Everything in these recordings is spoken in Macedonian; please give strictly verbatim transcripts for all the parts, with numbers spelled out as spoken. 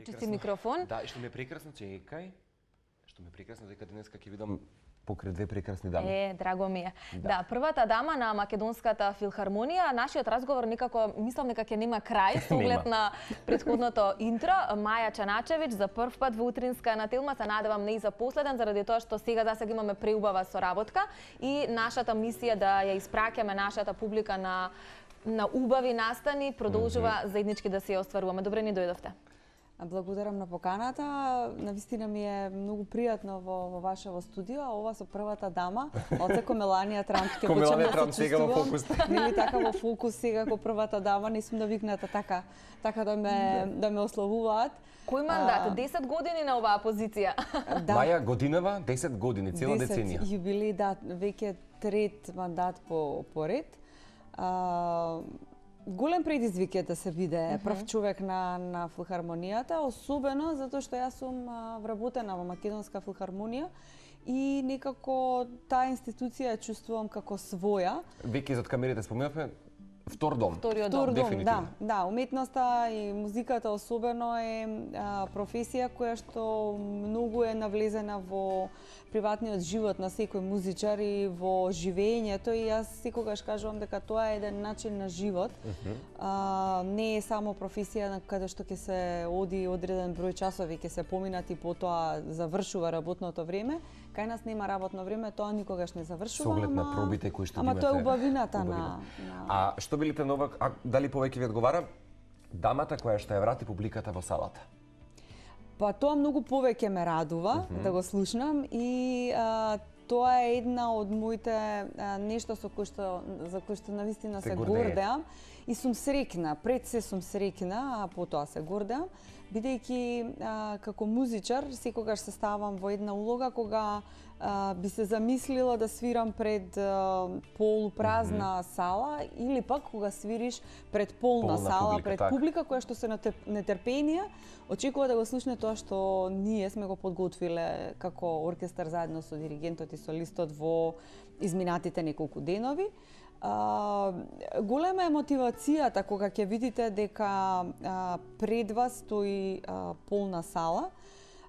Чисти микрофон. Да, и што ми е прекрасно, чекај. Што ми е прекрасно дека денеска ќе видам покрај две прекрасни дами. Е, драго ми е. Да. Да, првата дама на Македонската филхармонија, нашиот разговор некако мислам дека ќе нема крај со оглед на претходното интро. Маја Чаначевиќ за прв пат во утринска на Телма, се надевам не и за последен, заради тоа што сега засега имаме преубава соработка и нашата мисија да ја испраќаме нашата публика на на убави настани продолжува mm -hmm. заеднички да се ја остваруваме. Добре ни дојдовте. Благодарам на поканата. Навистина ми е многу пријатно во, во вашево студио, а ова со првата дама, оцеко Меланија Трамп ќе почнам да се сега во чувствувам. фокус. Нели така во фокус сега како првата дама, не сум навикната така, така да ме да ме ославуваат. Кој мандат? десет години на оваа позиција. Да. Маја годинава, десет години, цела деценија. десет јубилеј, да, веќе трет мандат по поред. А, голем предизвик е да се биде uh -huh. прв човек на на филхармонијата, особено затоа што јас сум а, вработена во Македонска филхармонија и некако таа институција ја чувствувам како своја. Веќе зад камерите споменавме втор дом. Вториот Втор дом. дом, да, да, уметноста и музиката особено е а, професија која што многу е навлезена во приватниот живот на секој музичар и во живењето, и јас секогаш кажувам дека тоа е еден начин на живот. Uh -huh. а, не е само професија на каде што ќе се оди одреден број часови, ќе се поминат и потоа завршува работното време. Кај нас нема работно време, тоа никогаш не завршува. Со оглед на пробите кои што ама имате. тоа е убавината убавина. на, на А што би ли пленува, а дали повеќе ви одговара дамата која што ја врати публиката во салата? Па тоа многу повеќе ме радува uh -huh. да го слушнам и а, тоа е една од моите а, нешто со кој што за кој што навистина се, се гордеам и сум среќна, пред се сум среќна, а потоа се гордеам, бидејќи а, како музичар секогаш се ставам во една улога кога а, би се замислила да свирам пред а, полупразна mm -hmm. сала или пак кога свириш пред полна, полна сала, публика, пред так. публика која што се нетрпенија, очекува да го слушне тоа што ние сме го подготвиле како оркестар заедно со диригентот и солистот во изминатите неколку денови. А, голема е мотивацијата кога ќе видите дека а, пред вас стои а, полна сала.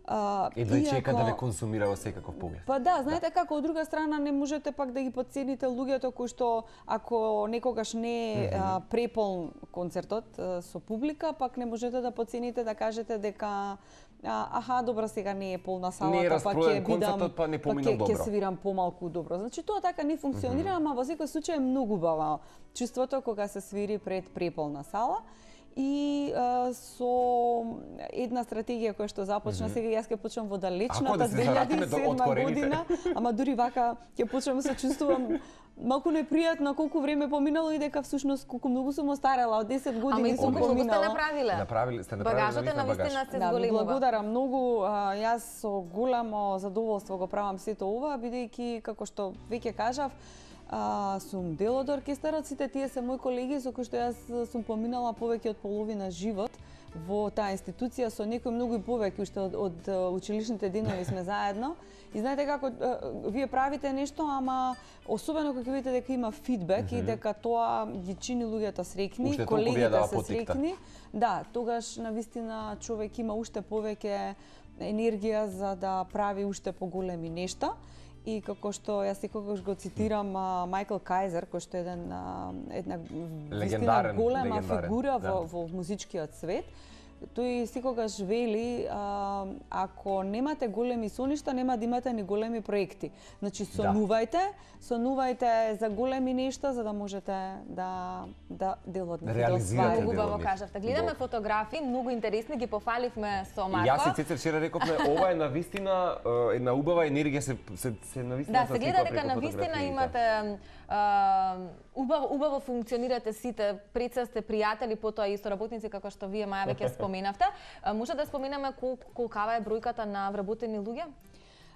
Uh, Едва и чека да ве консумира во секаков поглед. Па да, знаете да. како, од друга страна не можете пак да ги подцените луѓето кои што ако некогаш не е mm -hmm. преполн концертот а, со публика, пак не можете да подцените да кажете дека а, аха, добро, сега не е полна салата, па ќе бидам, па не па ќе свирам помалку добро. Значи тоа така не функционира, mm -hmm. ама во секој случај е многу убаво чувството кога се свири пред преполна сала. И а, со една стратегија која што започна, mm -hmm. сега јас ќе почнам во далечната две илјади и седма година, ама дури вака ќе почнам да се чувствувам малку непријатно колку време поминало и дека всушност колку многу сум остарела, од десет години сум поминала. Ама и сте направиле. Направиле сте направиле. Багажот на вистина се зголемува. Да, благодарам многу. Јас со голямо задоволство го правам сето ова, бидејќи како што веќе кажав, А, сум дел од оркестарот, сите тие се мои колеги со кои што јас сум поминала повеќе од половина живот во таа институција, со некои многу и повеќе уште од, од училишните денови сме заедно. И знаете како, вие правите нешто, ама особено кога видите дека има фидбек mm -hmm. и дека тоа ги чини луѓето среќни, колегите да се среќни, да, тогаш навистина човек има уште повеќе енергија за да прави уште поголеми нешта. И како што јас секогаш го цитирам Майкл Кајзер, кој што е еден, една вистина голема фигура да. во, во музичкиот свет, тој секогаш вели, а, ако немате големи соништа, нема да имате ни големи проекти. Значи, сонувајте, да. сонувајте за големи нешта, за да можете да, да делот не да освајате. Многу убаво кажавте. Гледаме До. фотографии, многу интересни, ги пофаливме со Марко. Јас и Цецер вчера рековме, ова е навистина една убава енергија, се, се, се навистина да, се гледа дека навистина имате а, убаво, убаво функционирате сите, пред се сте пријатели, потоа и соработници, како што вие, Маја, веќе споменавте. Може да споменаме кол, колкава е бројката на вработени луѓе?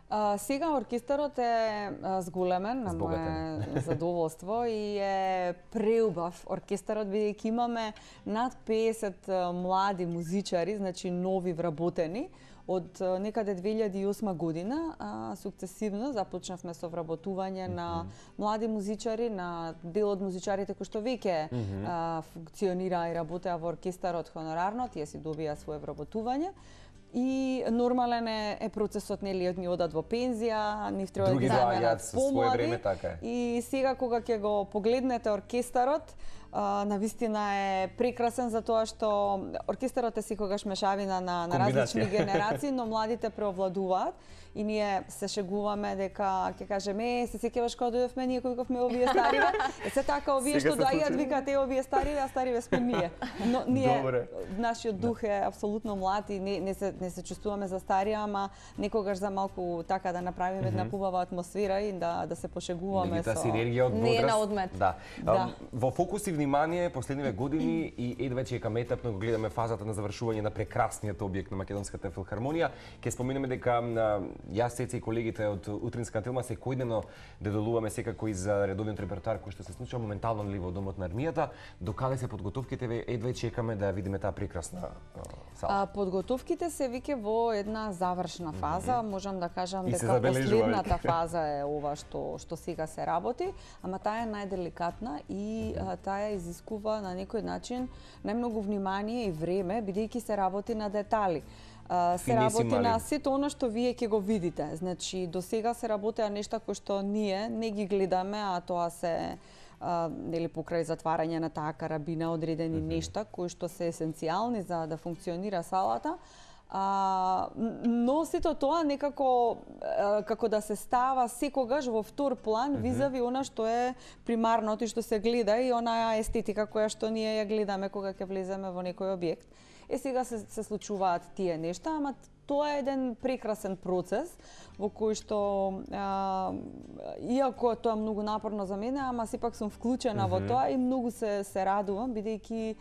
А, сега оркестарот е а, зголемен на мое задоволство и е преубав оркестарот, бидејќи имаме над педесет а, млади музичари, значи нови вработени. Од а, некаде две илјади и осма година а, сукцесивно започнавме со вработување mm -hmm. на млади музичари, на дел од музичарите кои што веќе mm -hmm. а, функционираа и работеа во оркестарот хонорарно, тие си добија свое вработување. И нормален е, е процесот, нели, од ни одат во пензија, нив треба да ги заменат помлади. Така е. И сега кога ќе го погледнете оркестарот, а, навистина е прекрасен за тоа што оркестарот е секогаш мешавина на, на различни генерации, но младите преовладуваат. И ние се шегуваме дека ќе кажеме, е, се сеќаваш кога дојдовме ние кои викавме овие стариве. Е се така овие што доаѓаат викаат е овие стариве, а стариве сме ние. Но ние Добре. Нашиот дух е апсолутно млад и не, не се не се чувствуваме за старија, ама некогаш за малку така да направиме една mm -hmm. побава атмосфера и да да се пошегуваме со синергија од возраст. Не е на одмет. Да. да. Во фокус и внимание последниве години и ед веќе е кам етап на го гледаме фазата на завршување на прекрасниот објект на Македонската филхармонија. Ќе споменеме дека јас, Цеца и колегите од Утринска Тилма секојдневно деделуваме секако и за редовниот репертоар кој што се случува моментално ли во домот на армијата. Докаде се подготовките, едва чекаме да видиме таа прекрасна сала. А, подготовките се веќе во една завршна фаза, mm -hmm. можам да кажам и дека последната фаза е ова што што сега се работи, ама таа е најделикатна и а, таа изискува на некој начин најмногу внимание и време, бидејќи се работи на детали. Uh, се работи на сето она што вие ќе го видите. Значи, до сега се работеа нешта кои што ние не ги гледаме, а тоа се uh, нели покрај затварање на таа карабина одредени mm -hmm. нешта кои што се есенцијални за да функционира салата. А, но сето тоа некако а, како да се става секогаш во втор план mm -hmm. визави она што е примарното и што се гледа и онаа естетика која што ние ја гледаме кога ќе влеземе во некој објект. Е, сега се, се случуваат тие нешта, ама тоа е еден прекрасен процес во кој што, а, иако тоа е многу напорно за мене, ама сепак сум вклучена mm -hmm. во тоа и многу се, се радувам, бидејќи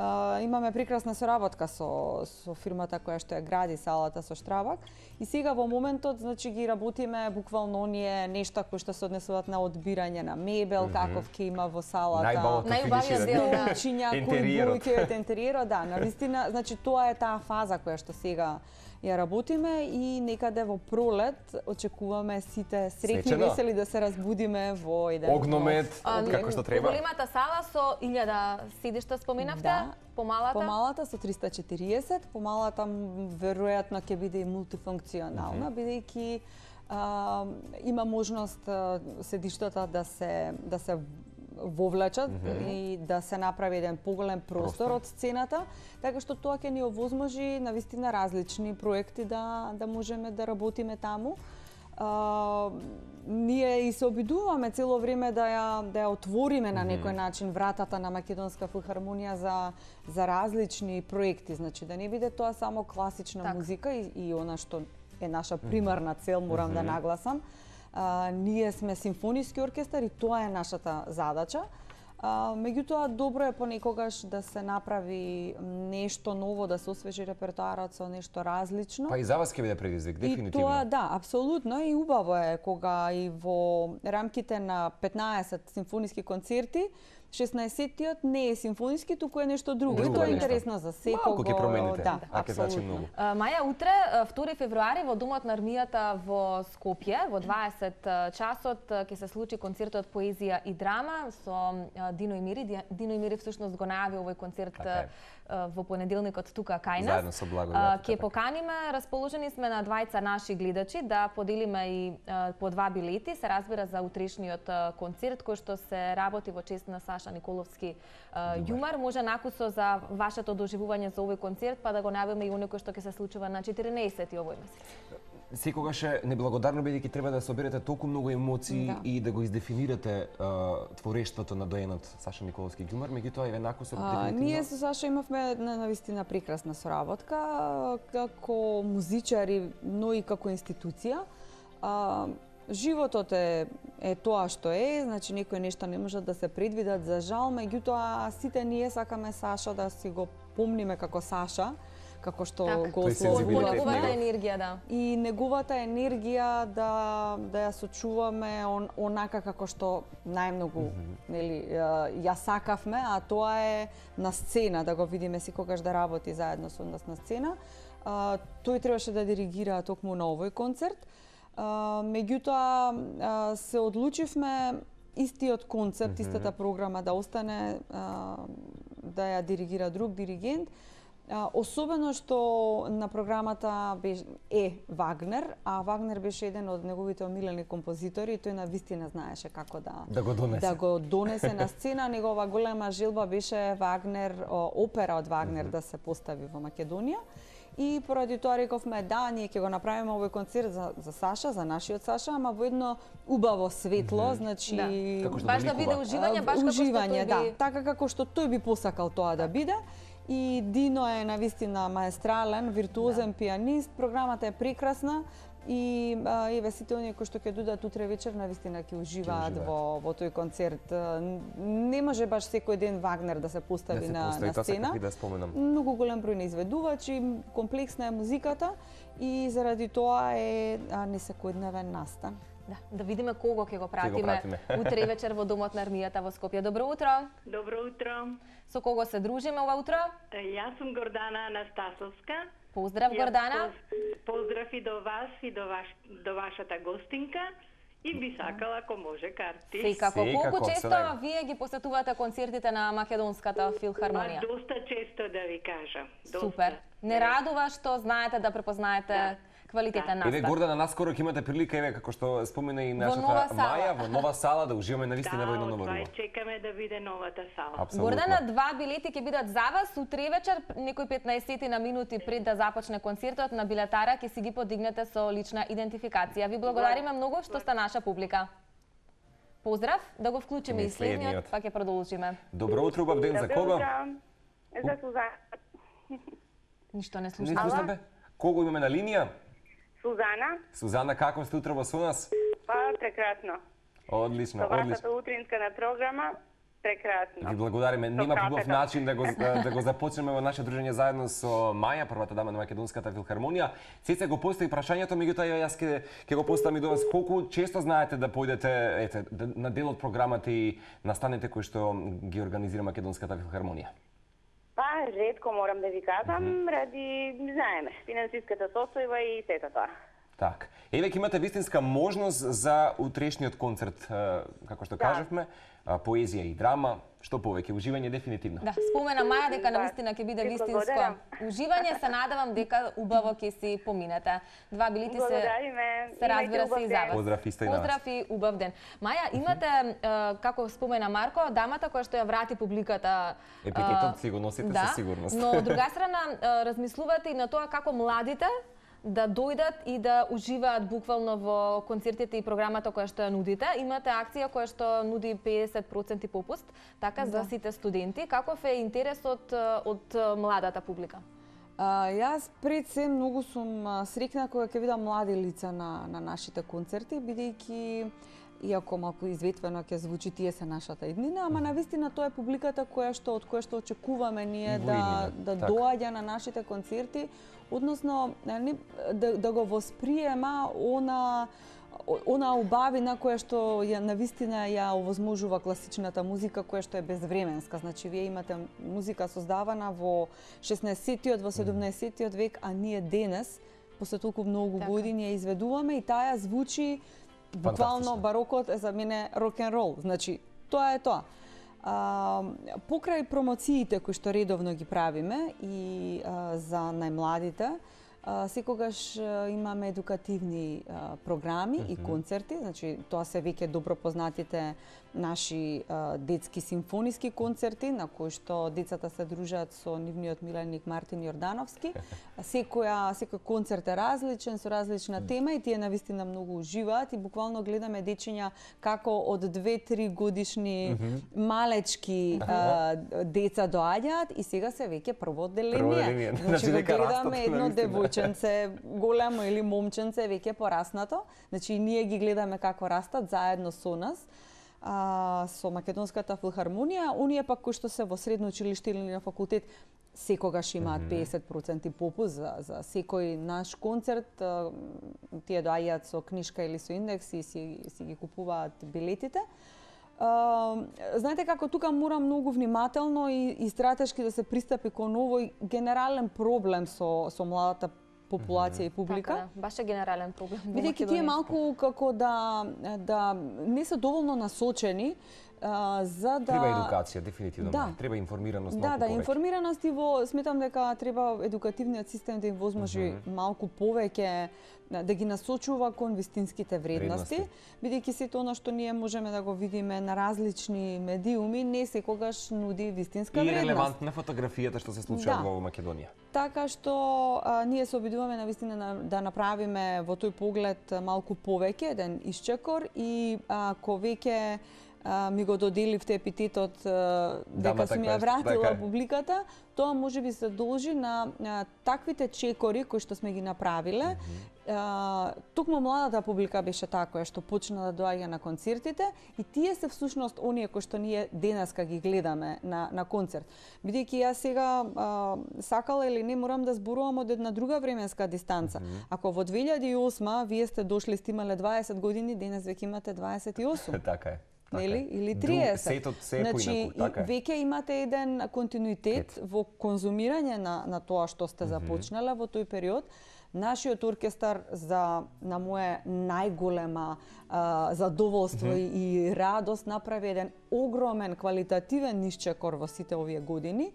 Uh, имаме прекрасна соработка со, со фирмата која што ја гради салата со Штрабак. И сега во моментот, значи, ги работиме буквално оние нешта кои што се однесуваат на одбирање на мебел, mm -hmm. каков ќе има во салата. Најубавиот дел на интериерот. Кој интериерот, да, навистина, значи тоа е таа фаза која што сега ја работиме и некаде во пролет очекуваме сите среќни весели да се разбудиме во еден огномет, како што треба. Големата сала со илјада седишта споменавте, да. Помалата? Помалата со триста и четириесет, помалата веројатно ќе биде и мултифункционална, mm -hmm. бидејќи а, има можност а, седиштата да се да се вовлечат mm -hmm. и да се направи еден поголем простор, простор од сцената, така што тоа ќе ни овозможи навистина различни проекти да да можеме да работиме таму. А, ние и се обидуваме цело време да ја да ја отвориме на некој начин вратата на Македонска филхармонија за за различни проекти, значи да не биде тоа само класична так. музика и, и она што е наша примарна цел, морам mm -hmm. да нагласам. А, ние сме симфониски оркестар и тоа е нашата задача. А, меѓутоа, добро е понекогаш да се направи нешто ново, да се освежи репертоарот со нешто различно. Па и за вас ќе биде предизвик, дефинитивно. И тоа, да, апсолутно, и убаво е кога и во рамките на петнаесет симфониски концерти шеснаесеттиот не е симфониски, туку е нешто друго. друго и тоа е интересно за секого. Малку ќе промените, да, а ќе значи многу. Маја, утре, втори февруари, во Домот на армијата во Скопје, во дваесет часот, ќе се случи концертот Поезија и драма со Дино и Мири. Дино и Мири всушност го најави овој концерт okay. во понеделникот тука кај нас. Заедно со Благодат. Ќе поканиме, расположени сме на двајца наши гледачи да поделиме и по два билети, се разбира за утрешниот концерт кој што се работи во чест на Саша Николовски јумар. Може накусо за вашето доживување за овој концерт, па да го најавиме и оној кој што ќе се случува на четирнаесети овој месец. Секогаш е неблагодарно бидејќи треба да соберете толку многу емоции да. и да го издефинирате а, творештвото на доенот Саша Николовски ѓумар, меѓутоа и веднакво се дефинитивно. Ние со Саша имавме навистина прекрасна соработка како музичари, но и како институција. А, животот е е тоа што е, значи некои нешта не можат да се предвидат за жал, меѓутоа сите ние сакаме Саша да си го помниме како Саша, како што Так. го Тој ословува. Неговата енергија, да. И неговата енергија да да ја сочуваме он, онака како што најмногу mm -hmm. нели ја сакавме, а тоа е на сцена, да го видиме секогаш да работи заедно со нас на сцена. А, тој требаше да диригира токму на овој концерт. А, меѓутоа а, се одлучивме истиот концерт, mm -hmm. истата програма да остане а, да ја диригира друг диригент. А, особено што на програмата беше, е Вагнер, а Вагнер беше еден од неговите омилени композитори и тој на вистина знаеше како да да го донесе, да го донесе на сцена. Негова голема желба беше Вагнер, опера од Вагнер mm -hmm. да се постави во Македонија. И поради тоа рековме да, ние ќе го направиме овој концерт за, за Саша, за нашиот Саша, ама во едно убаво светло, mm -hmm. значи да. Баш да биде уживање, баш уживање, како што тој да, би... така како што тој би посакал тоа да биде. И Дино е навистина маестрален, виртуозен да. пианист, програмата е прекрасна и а, еве сите оние кои што ќе додат утре вечер навистина ќе уживаат во во тој концерт. Не може баш секој ден Вагнер да се постави да се на, постави, на сцена. Да споменам. Многу голем број на изведувачи, комплексна е музиката и заради тоа е а, не секојдневен настан. Да, да видиме кого ќе го пратиме, го пратиме. утре вечер во Домот на армијата во Скопје. Добро утро. Добро утро. Со кого се дружиме ова утро? Јас сум Гордана Анастасовска. Поздрав, Гордана. Поздрав и до вас и до, ваш, до вашата гостинка. И би сакала, ако може, карти. Секако. Колку Секако, често сега. вие ги посетувате концертите на Македонската филхармонија? Па, доста често, да ви кажам. Доста. Супер. Не радува што знаете да препознаете Да. квалитетен Да. настан. Еве Гордана, наскоро ќе имате прилика, еве како што спомена и нашата нова сала. Маја, во нова сала да уживаме навистина во едно Да, ново од това руво. и чекаме да биде новата сала. Апсолутно. Гордана, два билети ќе бидат за вас утре вечер, некои петнаесет на минути пред да започне концертот на билетара ќе си ги подигнете со лична идентификација. Ви благодариме многу што сте наша публика. Поздрав, да го вклучиме И и следниот, следниот. па ќе продолжиме. Добро утро, убав ден, за кого? За Сузана. Ништо не Не слушнав. слушнаме? Кого имаме на линија? Сузана. Сузана, како сте утро во со нас? Па, прекрасно. Одлично, Со вашата одлично. утринска на програма, прекрасно. Ви благодариме. Нема кафето. побав начин да го да го започнеме во наше дружење заедно со Маја, првата дама на Македонската филхармонија. Цеца го постави прашањето, меѓутоа јас ќе ќе го поставам и до вас. Колку често знаете да појдете ете на дел од програмата и настаните кои што ги организира Македонската филхармонија? Па, ретко морам да ви кажам, mm -hmm. ради, знаеме, финансиската состојба и сето тоа. Так. Еве ќе имате вистинска можност за утрешниот концерт, како што Да. кажавме, поезија и драма, што повеќе уживање дефинитивно. Да, спомена Маја дека Да. навистина ќе биде Ви вистинско благодарам. уживање, се надевам дека убаво ќе си поминете. Два билети се Благодариме. се разбира Имајте се убав и за ден. вас. Поздрав исто и на вас. Поздрав и убав ден. Маја, имате, е, како спомена Марко, дамата која што ја врати публиката. Епитетот е, си го носите да, със сигурност. Но од друга страна е, размислувате и на тоа како младите да дојдат и да уживаат буквално во концертите и програмата која што ја нудите. Имате акција која што нуди педесет проценти попуст, така за Да. сите студенти. Каков е интересот е, од е, младата публика? А, јас пред се многу сум а, срекна кога ќе видам млади лица на, на нашите концерти, бидејќи иако малку изветвено ќе звучи тие се нашата иднина, ама навистина тоа е публиката која што од која што очекуваме ние Во да иднина, да така. доаѓа на нашите концерти, односно не, да, да го восприема она она убавина која што ја навистина ја овозможува класичната музика која што е безвременска. Значи вие имате музика создавана во шеснаесеттиот, во седумнаесеттиот век, а ние денес после толку многу Така. години ја изведуваме и таа звучи буквално Фантастично. барокот е за мене рок-н-рол. Значи тоа е тоа. А, покрај промоциите кои што редовно ги правиме и а, за најмладите, а, секогаш а, имаме едукативни а, програми mm -hmm. и концерти, значи тоа се веќе добро познатите наши а, детски симфониски концерти на кои што децата се дружат со нивниот миленик Мартин Јордановски. Секоја секој концерт е различен со различна тема и тие навистина многу уживаат и буквално гледаме дечиња како од две-три годишни mm -hmm. малечки а, деца доаѓаат и сега се веќе прво одделение. Прво одделение. Значи Значи, го дека растат, гледаме едно навистина. девојченце големо или момченце веќе пораснато. Значи ние ги гледаме како растат заедно со нас. а, со Македонската филхармонија, оние пак кои што се во средно училиште или на факултет секогаш имаат песет проценти попуст за, за секој наш концерт. Тие доаѓаат со книжка или со индекс и си, си ги купуваат билетите. Uh, знаете како тука мора многу внимателно и, и стратешки да се пристапи кон овој генерален проблем со, со младата популација mm -hmm. и публика. Така, баш е генерален проблем. Бидејќи тие малку како да, да не се доволно насочени Uh, за да... Треба едукација, дефинитивно. Да. Треба информираност да, малку да, повеќе. информираност и во сметам дека треба едукативниот систем да им возможи mm -hmm. малку повеќе да ги насочува кон вистинските вредности, вредности. Бидејќи сето она што ние можеме да го видиме на различни медиуми, не секогаш нуди вистинска и вредност. И релевантна фотографијата што се случува да. во Македонија. Така што а, ние се обидуваме на вистина на, да направиме во тој поглед малку повеќе, еден исчекор и ако веќе Uh, ми го доделивте епитетот uh, дека сум ја вратила така публиката, тоа може би се должи на uh, таквите чекори кои што сме ги направиле. Mm -hmm. uh, Токму младата публика беше таа која што почна да доаѓа на концертите и тие се всушност оние кои што ние денеска ги гледаме на, на концерт. Бидејќи јас сега uh, сакала или не морам да зборувам од една друга временска дистанца. Mm -hmm. Ако во две илјади и осма вие сте дошли, сте имале дваесет години, денес веќе имате дваесет и осум. Така е. Нели? Или триесет. Сетот се значи, поинаку, така е. Веќе имате еден континуитет Кет. во конзумирање на, на тоа што сте започнале mm -hmm. во тој период. Нашиот оркестар за на моje најголема а, задоволство mm -hmm. и радост направи еден огромен квалитативен исчекор во сите овие години.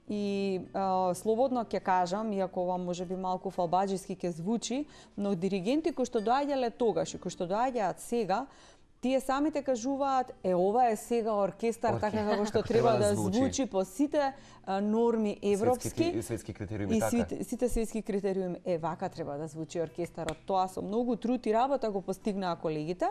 И а, слободно ќе кажам, иако ова може би малку фалбаџиски ќе звучи, но диригенти кои што доаѓале тогаш и кои што доаѓаат сега, тие самите кажуваат, е, ова е сега оркестар, така како што треба да звучи, звучи по сите а, норми европски и светски критериуми, и така. сите, сите светски критериуми. Е, вака треба да звучи оркестарот. Тоа со многу труд и работа го постигнаа колегите.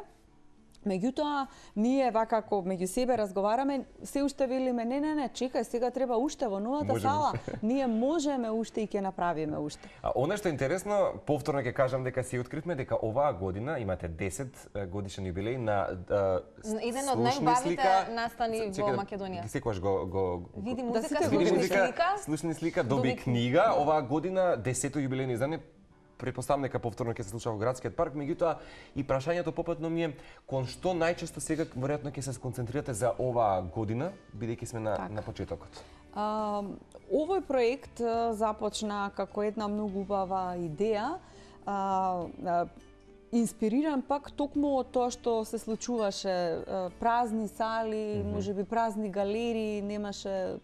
Меѓутоа, ние вака како меѓу себе разговараме, се уште велиме, не, не, не, чекај, сега треба уште во новата можеме. Сала. Ние можеме уште и ќе направиме уште. А она што е интересно, повторно ќе кажам дека си откривме дека оваа година имате десет годишен јубилеј на а, еден од најубавите настани во Македонија. Секогаш го го види музика, да, слушни музика, слика, слушни слика, доби книга. Оваа година десето јубилејно издание. Претпоставам дека повторно ќе се случува во градскиот парк, меѓутоа и прашањето попатно ми е кон што најчесто сега веројатно ќе се сконцентрирате за оваа година, бидејќи сме на, на почетокот. А, овој проект а, започна како една многу убава идеја, а, а, инспириран пак токму од тоа што се случуваше, а, празни сали, mm -hmm. можеби празни галерии, немаше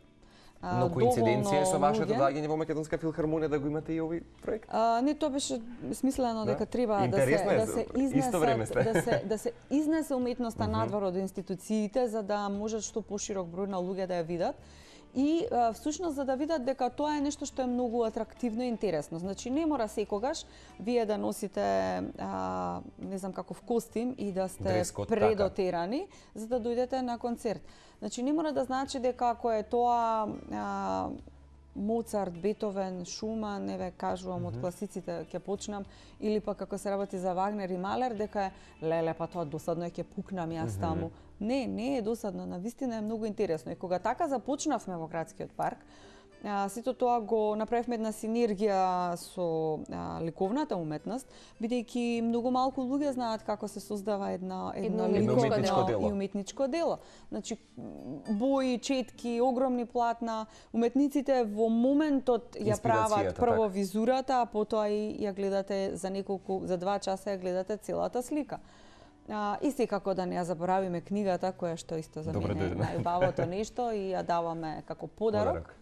Но коинциденција со вашето доаѓање во Македонска филхармонија да го имате и овој проект? А, не, тоа беше смислено дека да? треба да се, да се изнесат, да се да се изнесе уметноста uh -huh. надвор од институциите за да можат што поширок број на луѓе да ја видат. И а, всушност за да видат дека тоа е нешто што е многу атрактивно и интересно. Значи не мора секогаш вие да носите а, не знам каков костим и да сте Дрескот, предотерани така. За да дојдете на концерт. Значи не мора да значи дека ако е тоа а, Моцарт, Бетовен, Шуман, еве кажувам mm -hmm. од класиците ќе почнам, или пак како се работи за Вагнер и Малер, дека е леле па тоа досадно е ќе пукнам јас mm -hmm. таму. Не, не е досадно, навистина е многу интересно. И кога така започнавме во градскиот парк, а, сето тоа го направивме една синергија со а, ликовната уметност, бидејќи многу малку луѓе знаат како се создава една едно, едно ликовно дело и уметничко дело. Значи бои, четки, огромни платна, уметниците во моментот ја прават прво так. визурата, а потоа и ја гледате за неколку за два часа ја гледате целата слика. А, и секако да не ја заборавиме книгата која што исто за Добре, мене е најубавото нешто и ја даваме како подарок. подарок.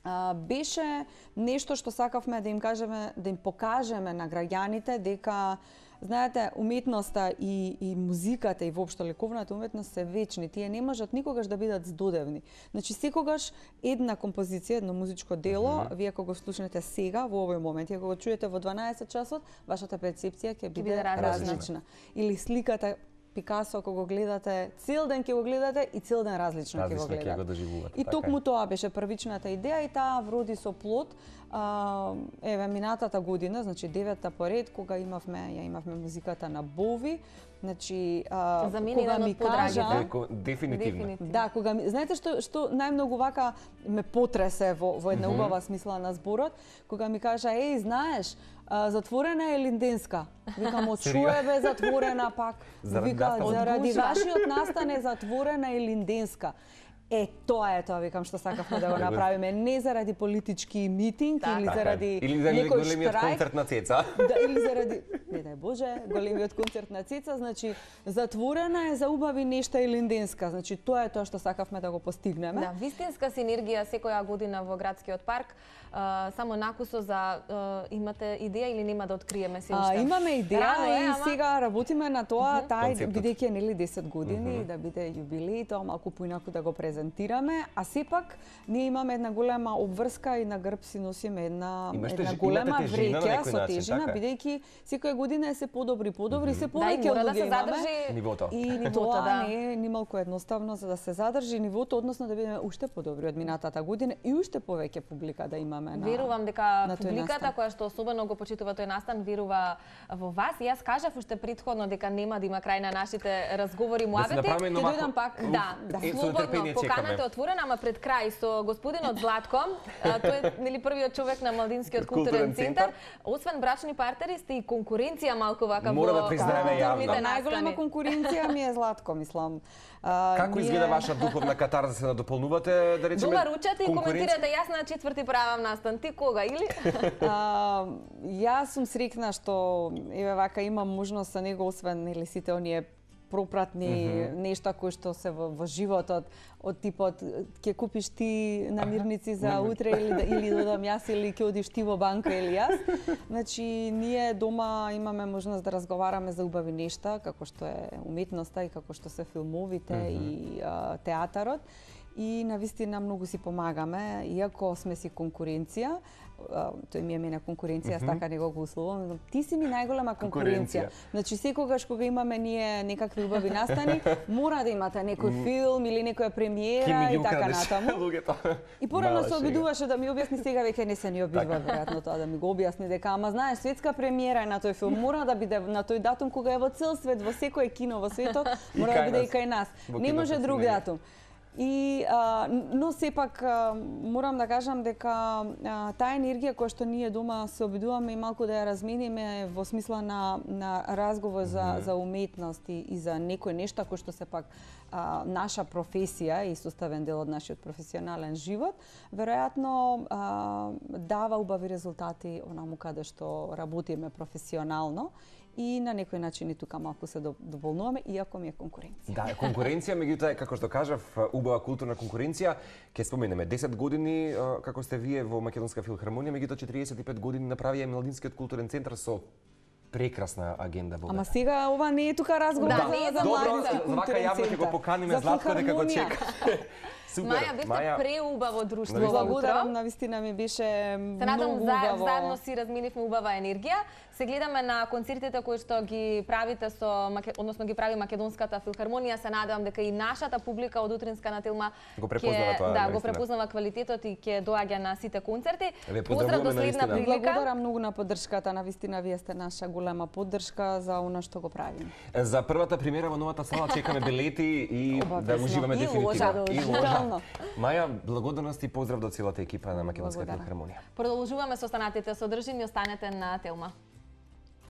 А, беше нешто што сакавме да им кажеме, да им покажеме на граѓаните дека знаете, уметноста и, и музиката и воопшто ликовната уметност се вечни. Тие не можат никогаш да бидат здодевни. Значи секогаш една композиција, едно музичко дело, mm -hmm. вие кога го слушнете сега во овој момент, и кога го чуете во дванаесет часот, вашата перцепција ќе биде различна. различна. Или сликата Пикасо кога го гледате, цел ден ќе го гледате и цел ден различно ќе го Различно ќе гледате. го доживувате. И така токму е. тоа беше првичната идеја и таа вроди со плод. А, еве минатата година, значи деветта поред, кога имавме, ја имавме музиката на Бови, значи а, За мене кога еден ми од подрагите. кажа, Деко- Дефинитивно. да, кога ми, знаете што што најмногу вака ме потресе во во една Мгм. убава смисла на зборот, кога ми кажа еј, знаеш, а, затворена е линденска. Викам, од што е бе затворена пак? Заради Вика, настан. заради Од гужва. вашиот настан е затворена и линденска. Е, тоа е тоа, викам, што сакавме да го направиме. Не заради политички митинг Така. или Така е. заради Или за некој големиот штрајк. концерт на Цеца. Да, или заради, не дај Боже, големиот концерт на Цеца, значи затворена е за убави нешта и линденска. Значи тоа е тоа што сакавме да го постигнеме. Да, вистинска синергија секоја година во градскиот парк. А, само накусо за а, имате идеја или нема да откриеме се уште? А, имаме идеја Рано е, и ама- сега работиме на тоа, тај Концептот. бидејќи е нели десет години, да биде јубилеј, тоа малку поинаку да го презентираме, а сепак ние имаме една голема обврска и на грб си носиме една Имаш една теж- голема имате тежина на вреќа некој со начин, тежина, така е. бидејќи секоја година е се подобри, подобри, се Да, и повеќе мора да луѓе се имаме. задржи Нивото. И Нивото, тоа да. не е нималку едноставно за да се задржи нивото, односно да бидеме уште подобри од минатата година и уште повеќе публика да имаме на. Верувам дека на тој публиката настан. која што особено го почитува тој настан верува во вас. И јас кажав уште претходно дека нема да има крај на нашите разговори, Да се муабети. направиме едно Ќе вако- дојдам пак. Да, Да. Е, со слободно, нетрпение поканата е чекаме. отворена, ама пред крај со господинот Златко, а, тој е нели првиот човек на Малдинскиот Културен културен центар. центар. Освен брачни партнери сте и конкуренција малку вака Мора во да признаеме културните јавно. настани. Најголема конкуренција ми е Златко, мислам. А, Како ние- изгледа ваша духовна катарза, се надополнувате, да речеме? Дома ручате и конкуренција? коментирате, јас на четврти правам настан, ти кога или? А, јас сум срекна што еве вака имам можност со него, освен нели сите оние пропратни mm -hmm. нешта кои што се во, во животот, од типот ќе купиш ти намирници за утре или да, или додам јас или ќе одиш ти во банка или јас. Значи ние дома имаме можност да разговараме за убави нешта, како што е уметноста и како што се филмовите mm -hmm. и а, театарот. И навистина многу си помагаме, иако сме си конкуренција. А, тој ми е мене конкуренција, mm -hmm. така него го условувам. Ти си ми најголема конкуренција. Конкуренција. Значи секогаш кога имаме ние некакви убави настани, мора да имате некој филм или некоја премиера и така натаму. луѓето. И порано Мала се шега. обидуваше да ми објасни, сега веќе не се ни обидува веројатно тоа да ми го објасни дека ама знаеш светска премиера е на тој филм, мора да биде на тој датум кога е во цел свет, во секој кино во светот, И мора кај да биде и нас. кај нас. Во Не киното може се друг не е. датум. И а, но сепак а, морам да кажам дека а, таа енергија која што ние дома се обидуваме и малку да ја размениме во смисла на на разговор за mm -hmm. за уметност и, и за некој нешта кој што сепак а, наша професија и составен дел од нашиот професионален живот, веројатно а, дава убави резултати онаму каде што работиме професионално. И на некој начин и тука малку се дополнуваме, иако ми е конкуренција. Да, конкуренција, меѓутоа е како што кажав, убава културна конкуренција. Ќе споменеме десет години како сте вие во Македонска филхармонија, меѓутоа четириесет и пет години направија Младинскиот културен центар со прекрасна агенда во Ама сега ова не е тука разговор Да, за, не е за за Добро, Младински вака културен јавно ќе го центар. поканиме За Златко дека го филхармонија. чека. Супер. Маја, бевте преубаво друштво Навистина. во утро. Благодарам, навистина ми беше Се многу надам за, убаво. заедно си разменивме убава енергија. Се гледаме на концертите кои што ги правите со Маке- односно ги прави Македонската филхармонија. Се надевам дека и нашата публика од утринска на Телма Го препознава тоа, да, го навистина. препознава квалитетот и ќе доаѓа на сите концерти. Ве Поздрав до поздравуваме, следна навистина. прилика. Благодарам многу на поддршката, навистина вие сте наша голема поддршка за она што го правиме. За првата премиера во новата сала чекаме билети и да Обавезно. уживаме И дефинитивно. ложа. И Задолжително. Маја, благодарност и поздрав до целата екипа на Македонска Благодарам. филхармонија. Продолжуваме со останатите содржини, останете на Телма.